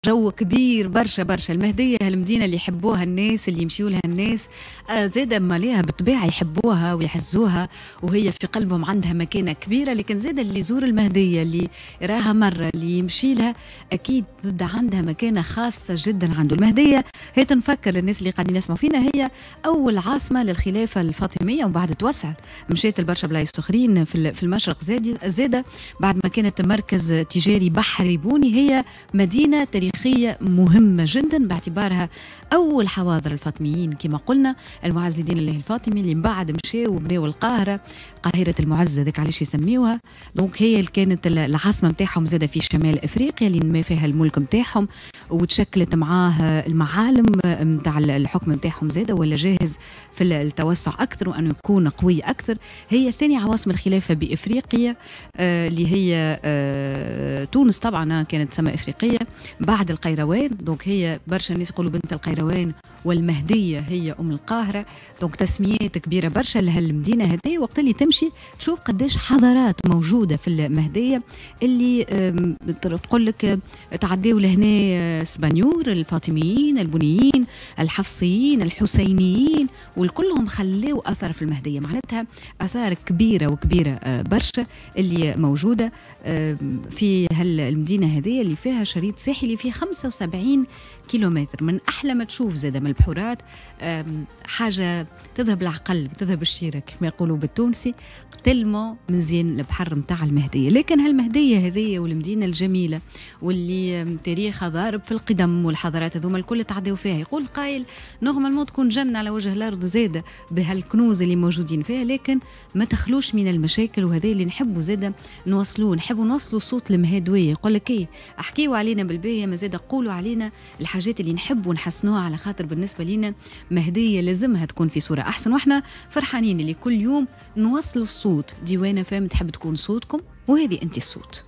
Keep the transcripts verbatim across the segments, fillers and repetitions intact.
جو كبير برشا برشا. المهدية هالمدينة اللي يحبوها الناس، اللي يمشيوا لها الناس، آه، زادة ماليها بالطبيعة يحبوها ويعزوها وهي في قلبهم عندها مكانة كبيرة. لكن زادة اللي يزور المهدية، اللي يراها مرة، اللي يمشي لها، أكيد تبدا عندها مكانة خاصة جدا عنده. المهدية هي تنفكر للناس اللي قاعدين يسمعوا فينا، هي أول عاصمة للخلافة الفاطمية، ومن بعد توسعت مشيت لبرشا بلايص أخرين في المشرق زادة بعد ما كانت مركز تجاري بحري بوني. هي مدينة تاريخية مهمة جدا باعتبارها أول حواضر الفاطميين كما قلنا، المعز لدين الله الفاطمي اللي من بعد مشاو وبناو القاهرة، قاهرة المعز هذاك علاش يسميوها. donc هي اللي كانت العاصمة نتاعهم زادة في شمال أفريقيا اللي نما فيها الملك نتاعهم وتشكلت معاه المعالم نتاع الحكم نتاعهم زادة، ولا جاهز في التوسع أكثر وأنه يكون قوي أكثر. هي ثاني عواصم الخلافة بإفريقيا آه، اللي هي آه، تونس طبعا كانت تسمى إفريقية بعد القيروان. donc هي برشا الناس يقولوا بنت القيروان والمهدية هي أم القاهرة. donc تسميات كبيرة برشا لهالمدينة هذه. وقت اللي تمشي تشوف قداش حضارات موجودة في المهدية اللي تقول لك تعديوا لهنا سبانيور، الفاطميين، البنيين، الحفصيين، الحسينيين، والكلهم خلاو أثر في المهدية. معناتها أثار كبيرة وكبيرة آه، برشا اللي موجودة في هالمدينة هذه اللي فيها شريط ساحلي فيه خمسة وسبعين كيلومتر. من أحلى ما تشوف زادة من البحورات، حاجة تذهب العقل، تذهب الشيرة كيف ما يقولوا بالتونسي، tellement مزيان البحر نتاع المهديه. لكن هالمهديه هذه والمدينة الجميلة واللي تاريخها ضارب في القدم والحضارات هذوما الكل تعديو فيها، يقول قايل normalement تكون جنة على وجه الارض زاده بهالكنوز اللي موجودين فيها، لكن ما تخلوش من المشاكل. وهذا اللي نحبوا زاده نوصلوه، نحبوا نوصلوا صوت المهادويه، يقول لك ايه احكيوا علينا بالباهيه، ما زاد قولوا علينا الحاجات اللي نحبوا نحسنوها، على خاطر بالنسبة لنا مهديه لازمها تكون في صوره احسن. واحنا فرحانين اللي كل يوم نوصلوا الصوت. ديوان أف أم تحب تكون صوتكم، وهذه انت الصوت.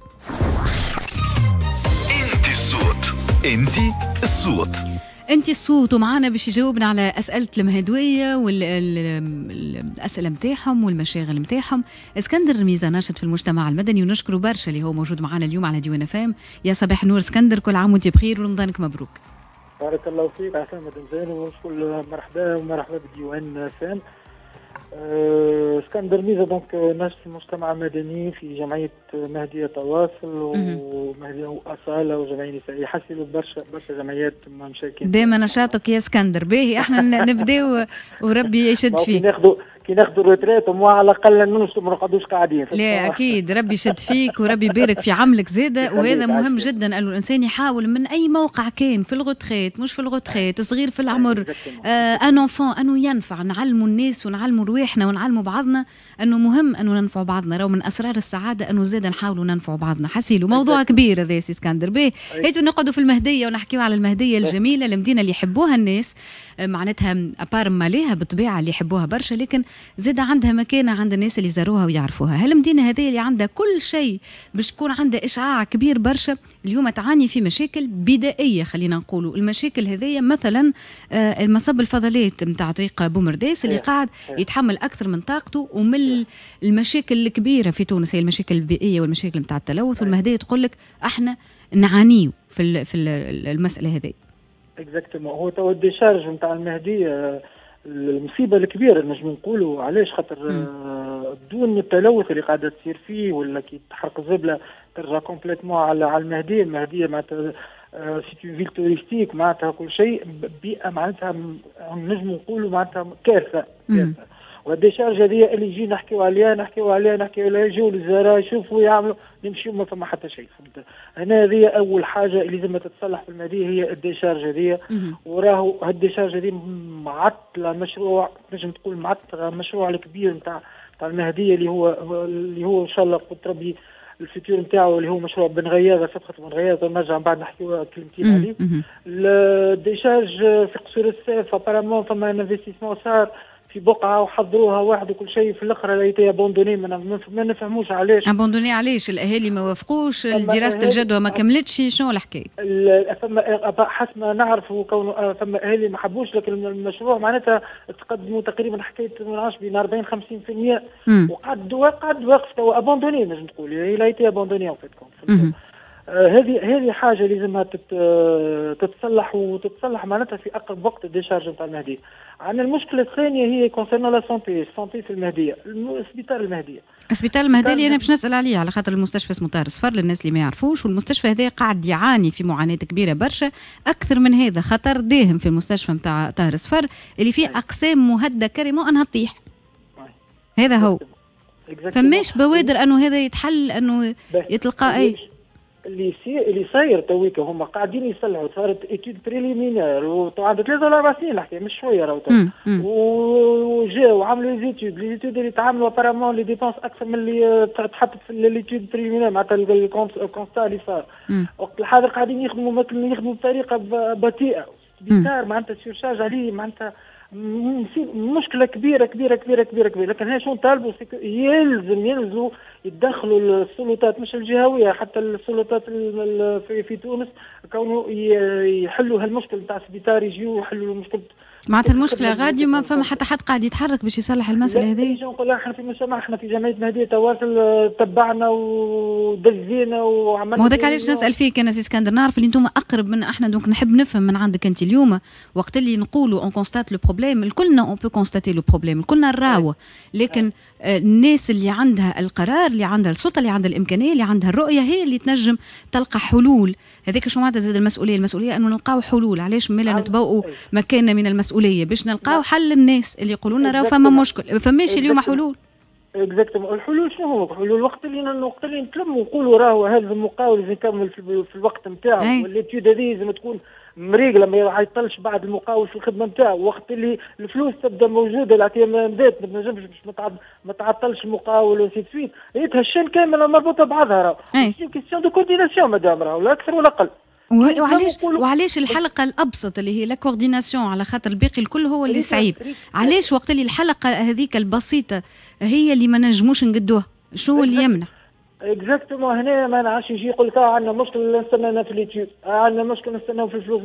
انت الصوت، انت الصوت. انت الصوت. ومعنا باش يجاوبنا على اسئلة المهدويه والاسئلة نتاعهم والمشاغل نتاعهم اسكندر ميزا، ناشط في المجتمع المدني، ونشكره برشا اللي هو موجود معنا اليوم على ديوان أف أم. يا صباح النور اسكندر، كل عام وانت بخير ورمضانك مبروك. بارك الله فيك، عسلامة مدام زين، ونقول مرحبا ومرحبا بديوان أف أم. أه، اسكندر ميزا donc ناشط في المجتمع المدني في جمعية مهديه تواصل ومهديه واصاله وجمعية نسائيه، حسيلو برشا برشا جمعيات مشاركين. دائما نشاطك يا اسكندر. باهي، احنا نبداو وربي يشد فيك. ناخذوا كي ناخذوا retraite على الاقل ما نقعدوش قاعدين. لا اكيد، ربي يشد فيك وربي يبارك في عملك زاده، وهذا مهم جدا انه الانسان يحاول من اي موقع كان، في ال retraite، مش في ال retraite، صغير في العمر، آه un enfant، انه ينفع. نعلموا الناس ونعلموا رواحنا ونعلموا بعضنا انه مهم انه ننفعوا بعضنا. راهو من اسرار السعادة انه زاد نحاولوا ننفعوا بعضنا. حسيلو موضوع كبير هذا سي اسكندر. باهي، هاتوا نقعدوا في المهدية ونحكيوا على المهدية الجميله، المدينة اللي يحبوها الناس، آه، معناتها à part ماليها بالطبيعة اللي يحبوها برشا، لكن زاد عندها مكانه عند الناس اللي زاروها ويعرفوها. هالمدينه هذه اللي عندها كل شيء باش تكون عندها اشعاع كبير برشا، اليوم تعاني في مشاكل بدائيه. خلينا نقولوا المشاكل هذه مثلا آه، المصب الفضلات نتاع طريق بومرداس اللي قاعد يتحمل اكثر من طاقته. ومن المشاكل الكبيرة في تونس هي المشاكل البيئية والمشاكل نتاع التلوث، والمهديه تقول لك احنا نعانيو في في المسالة هذه. exactement، هو تو ال décharge نتاع المهدية المصيبة الكبيرة نجم نقولوا. علاش؟ خاطر آه، دون التلوث اللي قاعدة تصير فيه، ولا كي تحرق الزبله ترجع complètement على على المهديه. المهدية معناتها c'est une ville touristique، معناتها كل شيء بيئه، معناتها نجم نقولوا معناتها كارثة كارثه. وال décharge هذه اللي يجي نحكيو عليها نحكيو عليها نحكيو عليها، يجوا الوزراء يشوفوا يعملوا، نمشيو ما فما حتى شيء، فهمت؟ هنا هذه اول حاجة اللي لازم تتصلح في المهدية هي ال décharge هذه. وراهو هال décharge هذه معطلة مشروع، نجم تقول معطلة المشروع الكبير نتاع نتاع المهدية اللي هو اللي هو ان شاء الله قلت ربي ال futur نتاعو، اللي هو مشروع بن غياضه، سبخه بن غياضه، نرجع من بعد نحكيو كلمتين عليه. ال décharge في قصور الساف apparemment فما investissement صار في بقعة وحضروها واحد وكل شيء، في الاخر elle a été abandonnée، ما نفهموش علاش. abandonnée علاش؟ الاهالي ما وافقوش؟ دراسة الجدوى ما كملتش؟ شنو الحكاية؟ فما حسب ما نعرفوا كونه فما اهالي ما حبوش، لكن المشروع معناتها تقدموا تقريبا حكاية ما نعرفش بين أربعين خمسين في المية وقعد قعد واقف توا abandonné، نجم تقول il a été abandonné en fait. هذه هذه حاجة لازمها تتصلح، وتتصلح معناتها في اقرب وقت ال décharge نتاع المهديه. عندنا المشكلة الثانية هي concernant la santé، ال santé في المهديه، السبيطار المهديه. السبيطار المهدية اللي انا باش نسال عليه، على خاطر المستشفى اسمه طاهر صفر للناس اللي ما يعرفوش، والمستشفى هذا قاعد يعاني في معاناة كبيرة برشا. اكثر من هذا، خطر داهم في المستشفى نتاع طاهر صفر اللي فيه اقسام مهددة carrément انها تطيح. هذا هو، فماش بوادر انه هذا يتحل، انه يتلقى اي اللي يصير اللي صاير تويكا، هما قاعدين يصلحوا، صارت étude préliminaire وعندها ثلاثة ولا أربع سنين الحكاية، مش شوية راهو. وجاو وعملوا les études les études اللي تعملوا apparemment les dépenses اكثر من اللي تحطت في l'étude préliminaire، معناتها ال constat اللي صار. وقت الحاضر قاعدين يخدموا يخدموا بطريقة بطيئه. سبيطار معناتها surcharge عليه، معناتها مشكلة كبيرة كبيرة كبيرة كبيرة كبيره. لكن هنا شو نطالبوا؟ يلزم يلزموا يتدخلوا السلطات، مش الجهويه، حتى السلطات في, في تونس، كونه يحلوا هالمشكل نتاع السبيطار، يجيو يحلوا المشكل. معناتها المشكلة غادي وما فما حتى حد قاعد يتحرك باش يصلح المسالة هذه. نقول احنا في المجتمع، احنا في جمعية مهديه تواصل، تبعنا ودزينا وعملنا. وهذاك علاش نسال فيك انا سي اسكندر، نعرف اللي انتم اقرب من احنا، donc نحب نفهم من عندك انت. اليوم وقت اللي نقولوا on constate le problème، الكلنا on peut constater le problème، الكلنا نراوه، لكن الناس اللي عندها القرار، اللي عندها السلطه، اللي عندها الامكانيه، اللي عندها الرؤيه، هي اللي تنجم تلقى حلول. هذاك شو معناتها زاد المسؤوليه، المسؤولية انه نلقاو حلول. علاش مالا نتبوؤوا مكاننا من المسؤوليه؟ باش نلقاو حل للناس اللي يقولوا لنا راه فما مشكل. فماش اليوم حلول. exactement. الحلول شنو هو؟ الحلول وقت اللي وقت اللي نتلموا ونقولوا راهو هذا المقاول لازم يكمل في, في الوقت نتاعو، وال l'étude هذه لازم تكون مريقله، ما يعطلش بعد المقاول في الخدمة نتاعو، وقت اللي الفلوس تبدا موجودة الاعتمادات ما تنجمش باش ما تعطلش المقاول و ainsi de suite. هي ال chaîne كاملة مربوطة بعضها، راهو question de coordination مدام، راهو لا اكثر ولا اقل. وعلاش وعلاش الحلقة الابسط اللي هي la coordination، على خاطر الباقي الكل هو اللي صعيب، علاش وقت اللي الحلقة هذيك البسيطة هي اللي ما نجموش نقدوها؟ شو اللي يمنع؟ exactement. هنا ما نعرفش، يجي يقول لك عندنا مشكل نستنى في l'étude، عندنا مشكل نستناو في الفلوس،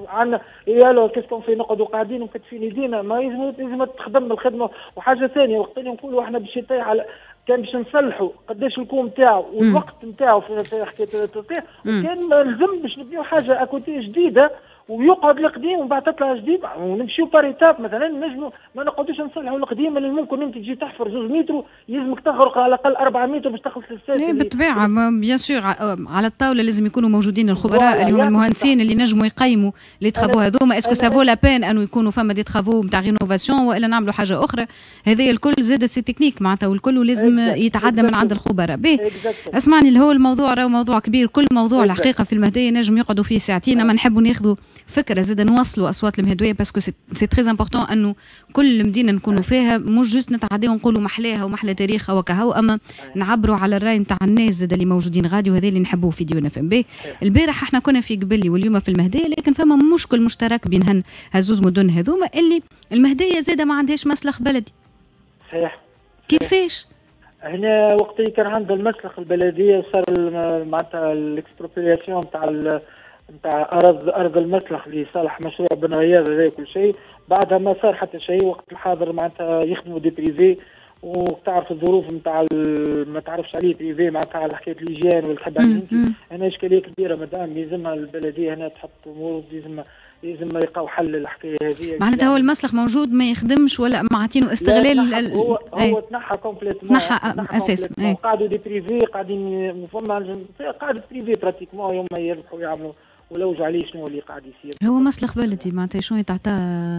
عندنا يا qu'est-ce qu'on fait؟ نقعدوا قاعدين ومكتفين يدينا؟ ما يلزم لازم تخدم الخدمه. وحاجه ثانيه، وقت اللي نقولوا احنا باش يطيح على كان باش نصلحوا، قداش ال coût نتاعو والوقت نتاعو في في حكاية التصليح، وكان لازم باش نبنيو حاجة à côté جديدة ويقعد القديم ومن بعد تطلع جديد ونمشيو par étapes مثلا، نجموا ما نقعدوش نصلحوا القديم اللي ممكن انت تجي تحفر زوج متر يلزمك تغرق على الاقل أربعة متر باش تخلص الساس. لا بالطبيعه، bien sûr، على الطاولة لازم يكونوا موجودين الخبراء اللي هم المهندسين اللي نجموا يقيموا les travaux هذوما، est-ce que ça vaut la peine انه يكونوا فما des travaux نتاع rénovation والا نعملوا حاجة اخرى. هذا الكل زاد c'est technique معناتها، والكل لازم يتعدى من عند الخبراء. باهي، اسمعني، اللي هو الموضوع راهو موضوع كبير، كل موضوع الحقيقة في المهدية نجم يقعدوا فيه ساعتين، اما نحبوا ناخذوا فكرة زاد، نوصلوا اصوات المهدويه parce que c'est très important انه كل مدينة نكونوا فيها مش juste نتعداو ونقولوا محلاها ومحلى تاريخها وكهو، اما نعبروا على الراي نتاع الناس زاد اللي موجودين غادي، وهذا اللي نحبوه في ديوان اف ام. بي البارح احنا كنا في قبلي واليوم في المهديه، لكن فما مشكل مشترك بين هن هزوز مدن هذوما، اللي المهدية زاده ما عندهاش مسلخ بلدي. صحيح. كيفاش؟ هنا وقت اللي كان عندها المسلخ البلدية صار معناتها l'expropriation نتاع نتاع ارض ارض المسلخ لصالح مشروع بن غياض هذا كل شيء. بعدها ما صار حتى شيء. وقت الحاضر معناتها يخدموا des privés، وتعرف الظروف نتاع ما تعرفش عليه privé، معناتها على حكاية l'hygiène ولا تحب عليه انت. هنا اشكالية كبيرة مدام، يلزمها البلدية هنا تحط امور، لازم لازم يلقاو حل للحكايه هذه. معناتها هو المسلخ موجود ما يخدمش ولا معطينه استغلال؟ هو هو تنحى complètement. تنحى اساسا. قعدوا des privés قاعدين، فما قاعد privé pratiquement يوم يربحوا يعملوا ولوجوا عليه شنو اللي قاعد يصير. هو مسلخ بلدي، معناتها شنو يتعطى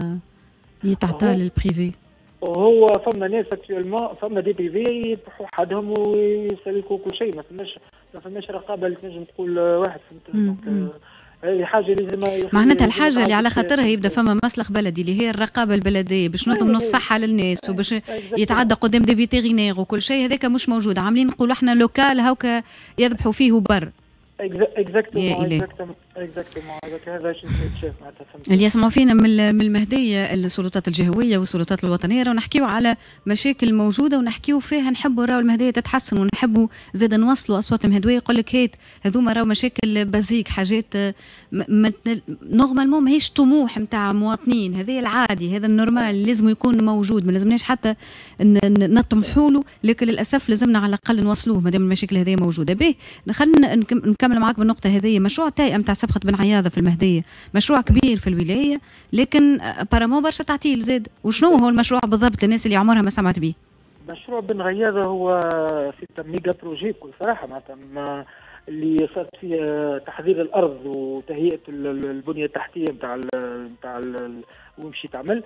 يتعطى لل privé؟ وهو فما ناس actuellement، فما des privés يذبحوا حدهم ويسلكوا كل شيء، ما فماش ما فماش رقابه اللي تنجم تقول واحد، فهمت؟ هذه حاجة لازم معناتها الحاجة اللي على خاطرها يبدا فما مسلخ بلدي، اللي هي الرقابة البلديه، باش نضمنوا الصحة للناس وباش يتعدى قدام des vétérinaires وكل شيء، هذاك مش موجود. عاملين نقولوا احنا local هاكا يذبحوا فيه بر. exactement. exactement، هذاك هذا شنو يتشاف معناتها. اللي يسمعوا فينا من من المهديه، السلطات الجهوية والسلطات الوطنيه، راهو نحكيو على مشاكل موجودة ونحكيو فيها، نحبوا راهو المهدية تتحسن ونحبوا زاد نوصلوا اصوات المهدويه. يقول لك هات هذوما راهو مشاكل basiques، حاجات normalement ماهيش طموح نتاع مواطنين، هذا العادي، هذا ال normal لازم يكون موجود، ما لازمناش حتى نطمحوا له، لكن للاسف لازمنا على الاقل نوصلوه ما دام المشاكل هذه موجوده. به، خلينا نكمل معاك بالنقطة هذه، مشروع التهيئه نتاع سبخه بن عياضه في المهديه، مشروع كبير في الولايه، لكن apparemment برشا تعطيل زاد. وشنو هو المشروع بالضبط للناس اللي عمرها ما سمعت به؟ مشروع بن غياضه هو c'est méga projet بكل صراحه، معناتها اللي صارت فيه تحضير الارض وتهيئه البنية التحتية نتاع نتاع وين تعمل.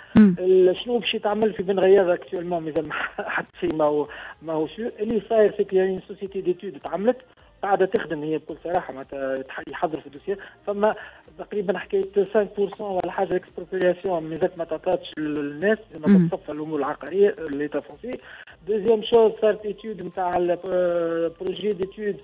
شنو باش يتعمل في بن غياضه؟ actuellement مازال حتى شيء ما هو ما هو sûr. اللي صاير c'est يعني société d'études تعملت، قاعدة تخدم هي بكل صراحه، معناتها يحضر في ال dossier. فما تقريبا حكاية خمسة في المية ولا حاجة expropriation مازالت ما تعطاتش للناس، ما تصفى الامور العقارية l'état foncier. deuxième chose، صارت étude نتاع projet d'étude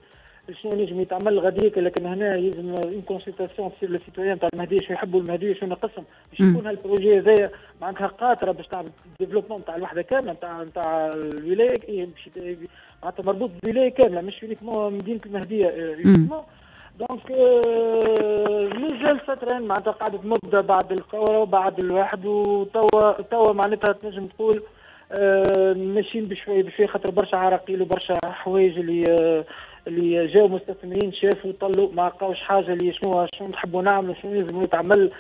شنو نجم يتعمل غاديك، لكن هنا يلزم une consultation تصير لل citoyens تاع المهديه، شو يحبوا المهديه، شنو ناقصهم، باش يكون هال projet هذايا معناتها قاطره باش تعمل développement تاع الوحدة كاملة نتاع نتاع الولايه، معناتها مربوط بالولايه كاملة مش uniquement مدينة المهدية uniquement. donc مازال فترة معناتها قعدت مده بعد الثورة وبعد الواحد، وتوا توا معناتها تنجم تقول آه، ماشيين بشوي بشوي، خاطر برشا عراقيل وبرشا حوايج اللي آه، اللي جاوا مستثمرين شافوا طلوا ما لقاوش حاجه، اللي شنو شنو نحبوا نعملوا، شنو لازم يتعمل،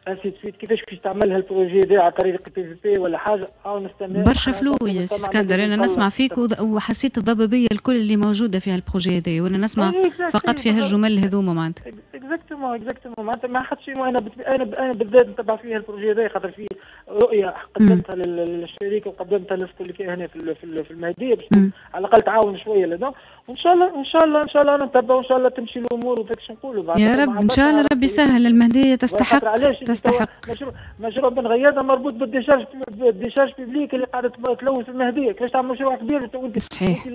ainsi de suite، كيفاش باش تعمل هال projet هذا على طريق PPP ولا حاجه، او نستنى. برشا flou يا سي اسكندر، انا نسمع فيك وحسيت الضبابيه الكل اللي موجودة في هال projet هذا، وانا نسمع فقط في هالجمل هذوما معناتها. exactement exactement، معناتها ما حد شيء. انا انا انا بالذات نتبع فيها ال projet هذا خاطر فيه رؤية قدمتها للشركة وقدمتها للناس اللي هنا في في المهدية باش على الاقل تعاون شوية لدون. وان شاء الله ان شاء الله ان شاء الله نتبع وان شاء الله تمشي الامور وفاك نقولوا. يا رب، ان شاء الله ربي يسهل، المهدية تستحق تستحق. مشروع مشروع بن غياده مربوط بال décharge بال décharge publique اللي قاعدة تلوث المهديه، كيفاش تعمل مشروع كبير؟ صحيح،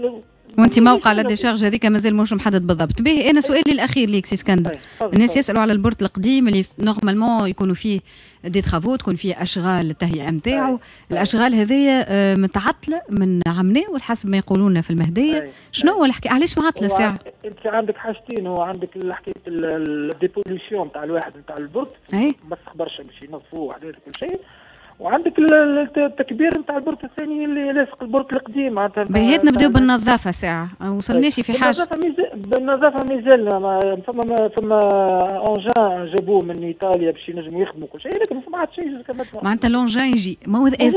وانت موقع la décharge هذيك مازال مش محدد بالضبط. به، انا سؤالي الاخير ليك سي اسكندر، الناس يسالوا على ال port القديم اللي normalement يكونوا فيه des travaux، تكون فيه اشغال التهيئه نتاعو. الاشغال هذه آه، متعطلة من عمناول حسب ما يقولون في المهديه. شنو هو الحكي؟ علاش معطلة الساعة؟ انت عندك حاجتين، هو عندك حكاية ال dépollution تاع الواحد نتاع ال port مسخ برشا باش ينظفوه وحدات كل شيء، وعندك التكبير نتاع ال port الثاني اللي لاصق ال port القديم. معناتها بهات نبداو بالنظافة ساعه، وصلناش في حاجه. بالنظافة مازال فما فما engin جابوه من ايطاليا باش ينجموا يخدموا كل شيء، لكن ما عاد شيء. معناتها l'engin يجي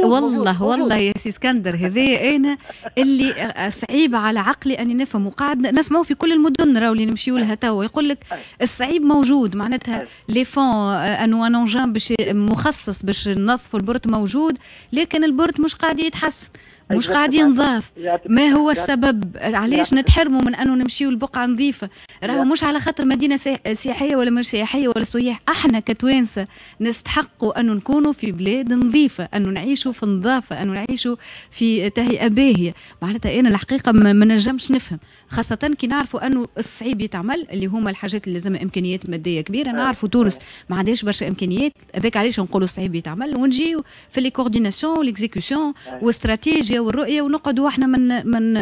والله والله يا سي اسكندر هذا انا اللي صعيب على عقلي اني نفهم، وقاعد نسمعوا في كل المدن راهو اللي نمشيو لها توا يقول لك الصعيب موجود، معناتها les fonds انو un engin باش مخصص باش ننظفوا ال port موجود، لكن ال port مش قاعد يتحسن، مش قاعد ينظاف. ما هو السبب؟ علاش نتحرموا من انه نمشيو لبقعه نظيفه؟ راهو مش على خاطر مدينة سياحية ولا مش سياحية ولا سياح، احنا كتوانسه نستحقوا انه نكونوا في بلاد نظيفه، انه نعيشوا في نظافه، انه نعيشوا في تهيئة باهيه. معناتها انا الحقيقة ما نجمش نفهم، خاصة كي نعرفوا انه الصعيب يتعمل اللي هما الحاجات اللي لازم امكانيات مادية كبيره. نعرفوا تونس ما عندهاش برشا امكانيات، هذاك علاش نقولوا الصعيب يتعمل، ونجيو في les coordinations و l'exécution واستراتيجيا والرؤية ونقعدوا احنا من من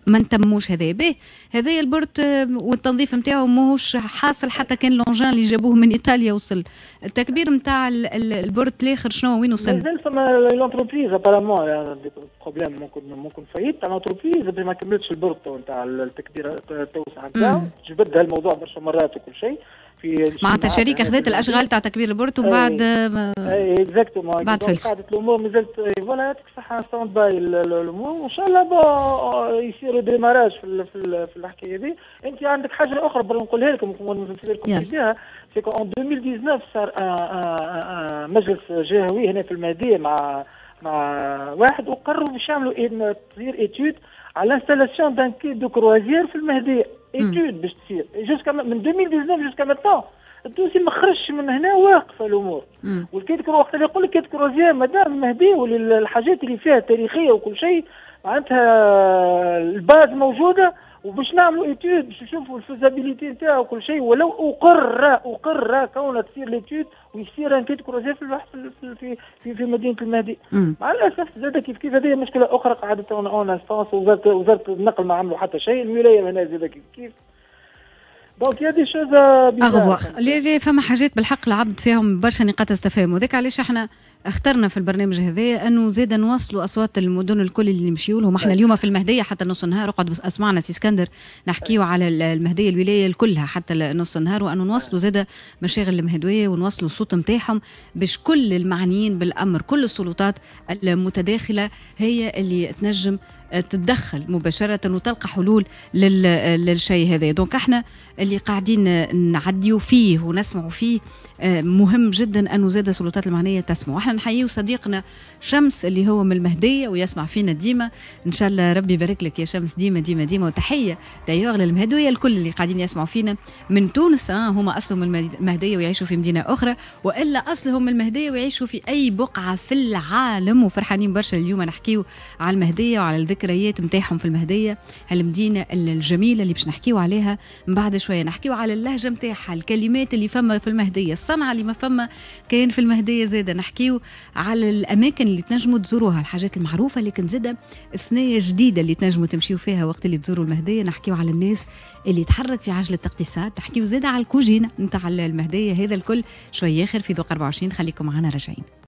ما نتموش هذا. به، هذا ال port والتنظيف نتاعو ماهوش حاصل حتى كان l'engin اللي جابوه من ايطاليا وصل. التكبير نتاع ال port الاخر شنو وين وصل؟ مازال فما l'entreprise apparemment problème، ممكن ممكن faillite تاع l'entreprise ما كملتش ال port نتاع التكبير التوسعة نتاعو. جبد هالموضوع برشا مرات وكل شيء. في معناتها شركة خذت الاشغال تاع تكبير ال port وبعد اي exactement. بعد فلس. قعدت الامور مازالت voilà، يعطيك الصحه، stand-by الامور، وان شاء الله bon يصير démarrage في في, في الحكاية هذه. انت عندك حاجة اخرى نقولها لكم لكم فيها، c'est en ألفين وتسعطاش صار مجلس جهوي هنا في المهدية مع مع واحد، وقرروا باش يعملوا تصير étude على l'installation d'un quai de croisière في المهديه، étude باش تصير jusqu'à من ألفين وتسعطاش jusqu'à maintenant. ال dossier ما خرجش من هنا، واقفة الامور. وال quai de وقت اللي يقول لك quai de croisière مادام المهدية والحاجات اللي فيها تاريخية وكل شيء، معناتها ال base موجوده، وباش نعملوا étude باش نشوفوا ال faisabilité نتاعو وكل شيء. ولو اقر اقر كون تصير l'étude ويصير un quai de croisière في في في في, في مدينة المهدي. مع الاسف زاد كيف كيف هذه مشكلة اخرى قعدت en instance. وزاره وزاره النقل ما عملوا حتى شيء، الولاية هنا زاد كيف كيف. donc il y a des choses à revoir. لي فما حاجات بالحق العبد فيهم برشا نقاط استفهام، وذاك علاش احنا اخترنا في البرنامج هذا انه زاد نوصلوا اصوات المدن الكل اللي نمشيو لهم. احنا اليوم في المهدية حتى نص النهار، اقعد بس اسمعنا سي اسكندر، نحكيو على المهدية الولاية كلها حتى نص النهار، وانه نوصلوا زاد مشاغل المهدويه ونوصلوا الصوت نتاعهم باش كل المعنيين بالامر، كل السلطات المتداخله هي اللي تنجم تتدخل مباشرة وتلقى حلول للشيء هذا. donc احنا اللي قاعدين نعديو فيه ونسمعوا فيه آه، مهم جدا انه زاد السلطات المعنية تسمع. واحنا نحييه صديقنا شمس اللي هو من المهدية ويسمع فينا ديما، ان شاء الله ربي يبارك لك يا شمس ديما ديما ديما. وتحية d'ailleurs للمهدويه الكل اللي قاعدين يسمعوا فينا من تونس، آه هما اصلهم من المهدية ويعيشوا في مدينة اخرى، والا اصلهم من المهدية ويعيشوا في اي بقعة في العالم، وفرحانين برشا اليوم نحكيو على المهدية وعلى الذكريات نتاعهم في المهدية، هالمدينه الجميلة اللي باش نحكيو عليها من بعد شويه. نحكيو على اللهجة نتاعها، الكلمات اللي فما في المهديه، الصنعة اللي ما فما كاين في المهدية زاده. نحكيو على الاماكن اللي تنجموا تزوروها، الحاجات المعروفة لكن زاده ثنايا جديدة اللي تنجموا تمشيو فيها وقت اللي تزوروا المهديه. نحكيو على الناس اللي تحرك في عجله الاقتصاد، نحكيو زاده على الكوجينه نتاع المهديه. هذا الكل شوية اخر في ذوق أربعة وعشرين، خليكم معنا راجعين.